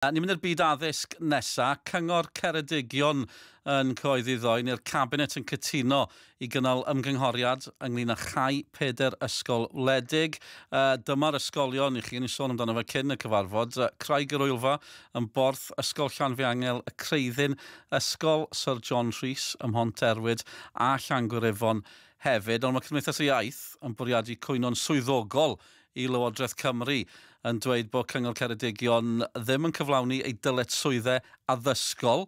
Ni'n mynd i'r byd addysg nesa. Cyngor Ceredigion yn cyhoeddi ddoe, neu'r Cabinet yn cytuno i gynnal ymgynghoriad ynglyn â chau peder ysgol wledig. Dyma'r ysgolion i chi, ni'n sôn amdano fe cyn y cyfarfod. Craig yr Wylfa yn Borth, Ysgol Llanfihangel y Creuddyn, Ysgol Sir John Rhys ym Mhonterwyd a Llangwyryfon hefyd. Ond mae Cymdeithas y Iaith yn bwriadu cwyno'n swyddogol i Lywodraeth Cymru yn dweud bod Cyngor Ceredigion ddim yn cyflawni ei dyletswyddau addysgol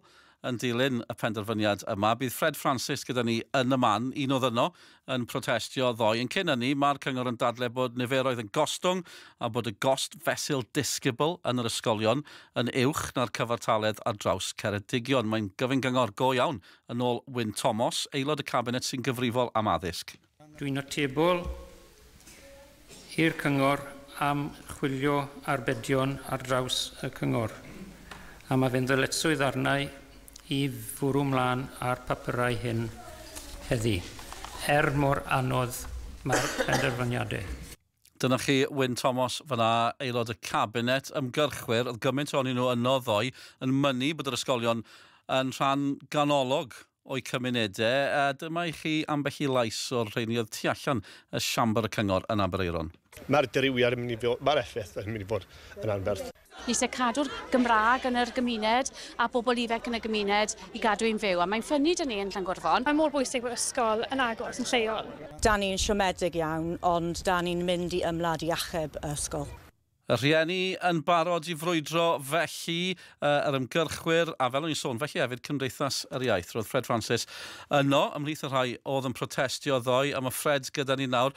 yn dilyn y penderfyniad yma. Bydd Ffred Ffransis gyda ni yn y man, un oedd yno, yn protestio ddoe. Yn cyn hynny, mae'r cyngor yn dadle bod niferoedd yn gostwng a bod y gost fesul disgybl yn yr ysgolion yn uwch na'r cyfartaledd ar draws Ceredigion. Mae'n gyfyng gyngor go iawn yn ôl Wyn Thomas, aelod y cabinet sy'n gyfrifol am addysg. Dwi'n atebol i'r cyngor am chwilio arbedion ar draws y cyngor. A mae fe'n ddyletswydd arnau i fwrw mlaen â'r papurau hyn heddi, er mor anodd mae'r penderfyniadau. Dyna chi Wyn Thomas fyna, aelod y cabinet, ymgyrchwyr, oedd gymaint ohonyn nhw yno ddoe, yn mynnu bod yr ysgolion yn rhan ganolog o'u cymunedau. A dyma i chi ambell i lais o'r rheini oedd tu allan y siambr y cyngor yn Aberaeron. Mae'r dirywiad yn mynd i fod, mae'r effaith yn mynd i fod yn anferth. Ni eisiau cadw'r Gymraeg yn yr gymuned a bobl ifanc yn y gymuned i gadw i'n fyw. A mae'n ffynnu dyn ni yn Llangwrfon. Mae mor bwysig bod ysgol yn agos yn lleol. Da ni'n siomedig iawn, ond da ni'n mynd i ymladd i achub y ysgol. Y rhieni yn barod i frwydro felly, yr ymgyrchwyr, a fel o'n i'n sôn, felly hefyd Cymdeithas yr Iaith. Roedd Ffred Ffransis yno, ymhlith y rhai oedd yn protestio ddoe, a mae Ffred gyda ni nawr.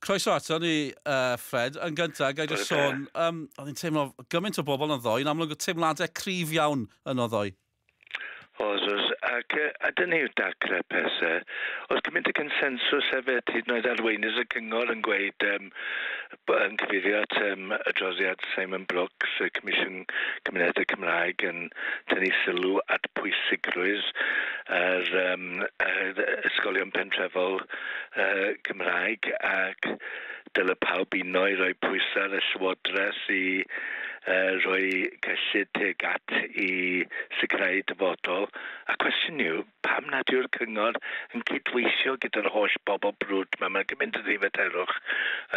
Croeso ato ni, Ffred. Yn gyntaf, gai jyst sôn, oedd hi'n teimlo gymaint o bobl yn ddoe, yn amlwg o teimladau cryf iawn yno ddoe. Oes, oes, ac a dyna yw dacre pethau. Oedd gymaint o consensws hefyd, hyd yn oed arweinydd y cyngor yn gweud, yn cyfeirio at adroddiad Simon Brooks, y Comisiwn Cymunedau Cymraeg, yn tynnu sylw at pwysigrwydd yr ysgolion pentrefol Cymraeg, ac dyle pawb uno i roi pwysau ar y Llywodraeth i roi cyllid tuag at i sicrhau dyfodol. A cwestiwn yw, pam nad yw'r cyngor yn cydweithio gyda'r holl bobl brwd yma? Mae'n gymaint o ddifaterwch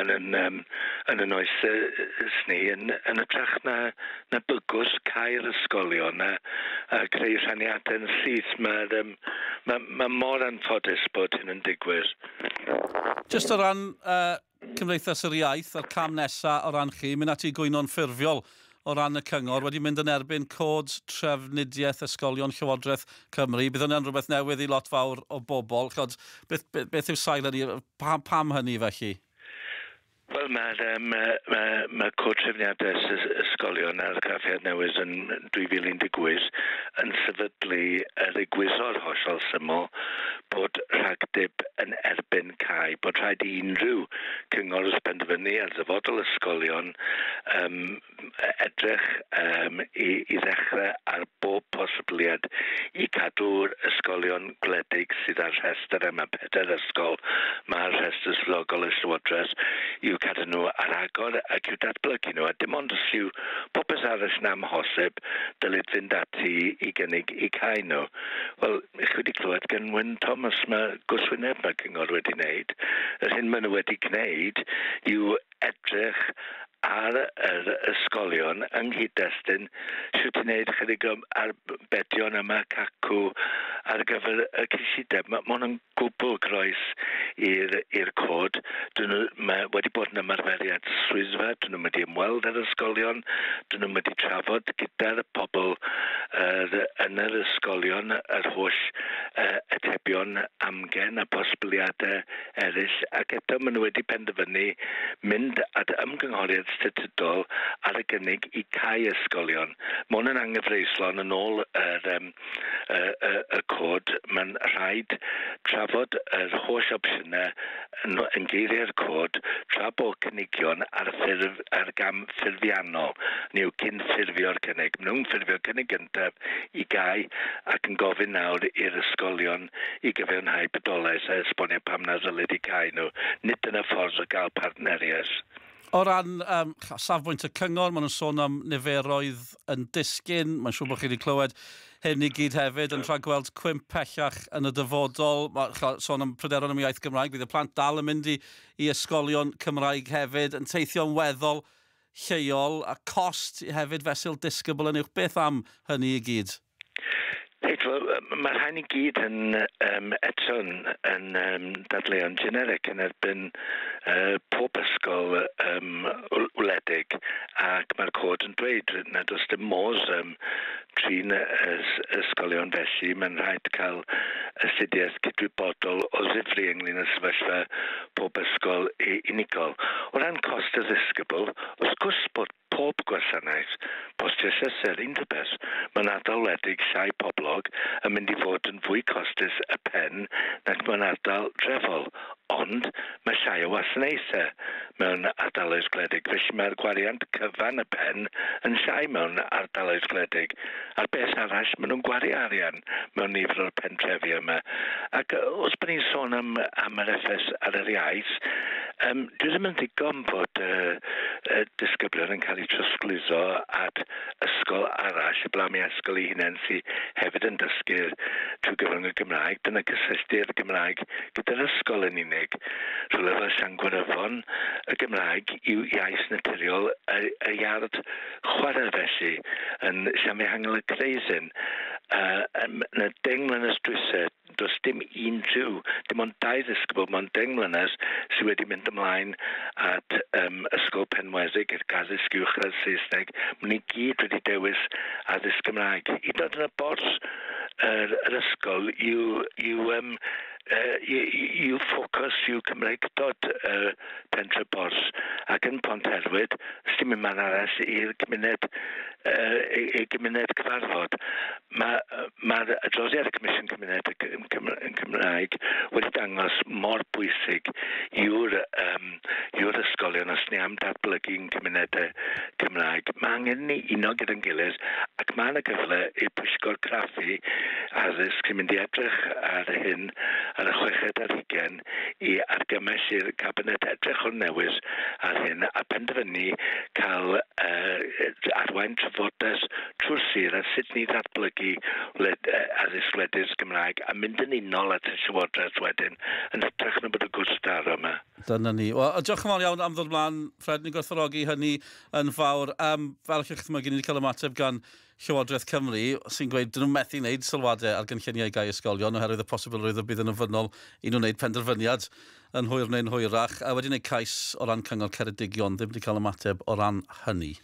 yn yn oes ni, yn hytrach na bygwth cau'r ysgolion a creu rhaniadau yn syth. Mae mor anffodus bod hyn yn digwydd. Jyst o ran Cymdeithas yr Iaith a'r cam nesaf o ran chi, mynd ati gwyno'n ffurfiol o ran y cyngor, wedi mynd yn erbyn cod trafnidiaeth ysgolion Llywodraeth Cymru. Bydd hwnna'n rhywbeth newydd i lot fawr o bobl. Chod, beth yw sail hynny? Pam hynny felly? Wel, mae cod trefniadaeth ysgolion a'r argraffiad newydd yn 2018 yn sefydlu yr egwyddor hollol syml bod rhagdyb yn erbyn cau, bod rhaid i unrhyw cyngor wrth benderfynu ar ddyfodol ysgolion edrych i ddechrau ar bob posibiliad i cadw'r ysgolion gwledig sydd ar rhestr yma, pedair ysgol, mae'r rhestr swyddogol y Llywodraeth, i'w cadw nhw ar agor ac i'w datblygu nhw, a dim ond os yw popeth arall yn amhosib, dylid fynd ati i gynnig i cau nhw. Wel, chi wedi clywed gan Wyn Thomas, mae gwrthwyneb mae cyngor wedi wneud. Yr hyn maen nhw wedi gwneud yw edrych ar yr ysgolion yng nghyd-destun sut i wneud chydig o arbedion yma cacw ar gyfer y cyllideb. Mae hwn yn gwbl groes i'r cod. Dyn nhw, mae wedi bod yn ymarferiad swyddfa, dyn nhw wedi ymweld â'r ysgolion, dyn nhw wedi trafod gyda'r pobl yn yr ysgolion yr holl atebion amgen a posibiliadau eraill, ac eto maen nhw wedi penderfynu mynd at ymgynghoriad statudol ar y gynnig i cau ysgolion. Mae hwn yn anghyfreithlon yn ôl y cod. Mae'n rhaid trafod yr holl opsiynau yn geiriau'r cod tra bod cynigion ar gam ffurfiannol, neu cyn ffurfio'r cynnig. Maen nhw'n ffurfio'r cynnig gyntaf i gau ac yn gofyn nawr i'r ysgolion i gyfiawnhau bodolaeth a esbonio pam na ddylid i cau nhw. Nid dyna ffordd o gael partneriaeth. O ran safbwynt y cyngor, maen nhw'n sôn am niferoedd yn disgyn. Mae'n siŵr bod chi wedi clywed hyn i gyd hefyd yn rhagweld cwymp pellach yn y dyfodol. Mae sôn am pryderon am iaith Gymraeg. Bydd y plant dal yn mynd i ysgolion Cymraeg hefyd, yn teithio'n weddol lleol, a cost hefyd fesul disgybl yn uwch. Beth am hynny i gyd? Reit, wel, mae'r rhain i gyd yn eto yn dadleuon generic yn erbyn pob ysgol wledig, ac mae'r cod yn dweud nad oes dim modd trin ysgolion felly. Mae'n rhaid cael astudiaeth cydwybodol o ddifri ynglyn â sefyllfa pob ysgol unigol. O ran cost y ddisgybl, wrth gwrs bod pob gwasanaeth, postio llythyr, unrhyw beth, mewn ardal wledig llai poblog yn mynd i fod yn fwy costus y pen nac mewn ardal drefol. Ond mae llai o wasanaethau mewn ardaloedd gwledig, felly mae'r gwariant cyfan y pen yn llai mewn ardaloedd gwledig. A'r beth arall, maen nhw'n gwario arian mewn nifer o'r pentrefi yma. Ac os bod ni'n sôn am yr effaith ar yr iaith, dwi ddim yn ddigon bod disgyblion yn cael eu trosglwyddo at ysgol arall, heblaw am ysgol ei hunain sydd hefyd yn dysgu trwy gyfrwng y Gymraeg. Dyna cysylltu'r Gymraeg gyda'r ysgol yn unig. Rhywle fel Llangwyryfon, y Gymraeg yw iaith naturiol y iard chwarae felly yn Llanfihangel y Creuddyn. Yn y 10 mlynedd dwytha, does dim unrhyw, dim ond dau ddisgybl mewn 10 mlynedd sydd wedi mynd ymlaen at ysgol Penweddig i'r addysg uwchradd Saesneg. Maen nhw i gyd wedi dewis addysg Gymraeg. Hyd yn oed yn y Borth, yr ysgol yw ffocws yw Cymreictod Pentre Borth, ac yn Ponterwyd, dim un man arall i'r gymuned i gymuned cyfarfod. Mae adroddiad y Comisiwn Cymuned Cymraeg wedi dangos mor bwysig yw'r ysgolion os ni am datblygu'n cymunedau Cymraeg. Mae angen ni uno gyda'n gilydd ac mae yna gyfle i'r pwyllgor craffu addysg sy'n mynd i edrych ar hyn ar y 26 i argymell i'r cabinet edrych o'r newydd ar hyn a penderfynu cael arwain trafodaeth trwy'r sir a sut ni ddatblygu addysg wledydd Gymraeg a mynd yn unol at y Llywodraeth wedyn yn hytrach na bod y gwrthdaro yma. Dyna ni. Wel, diolch yn fawr iawn am ddod mlaen, Fred, ni'n gwerthfawrogi hynny yn fawr. Fel chi'ch chymygu, ni wedi cael ymateb gan Llywodraeth Cymru sy'n gweud dyn nhw'n methu wneud sylwadau ar gynlluniau gau ysgolion oherwydd y posibilrwydd y bydd yn ofynnol i nhw wneud penderfyniad yn hwyr neu'n hwyrach. A wedi wneud cais o ran Cyngor Ceredigion, ddim wedi cael ymateb o ran hynny.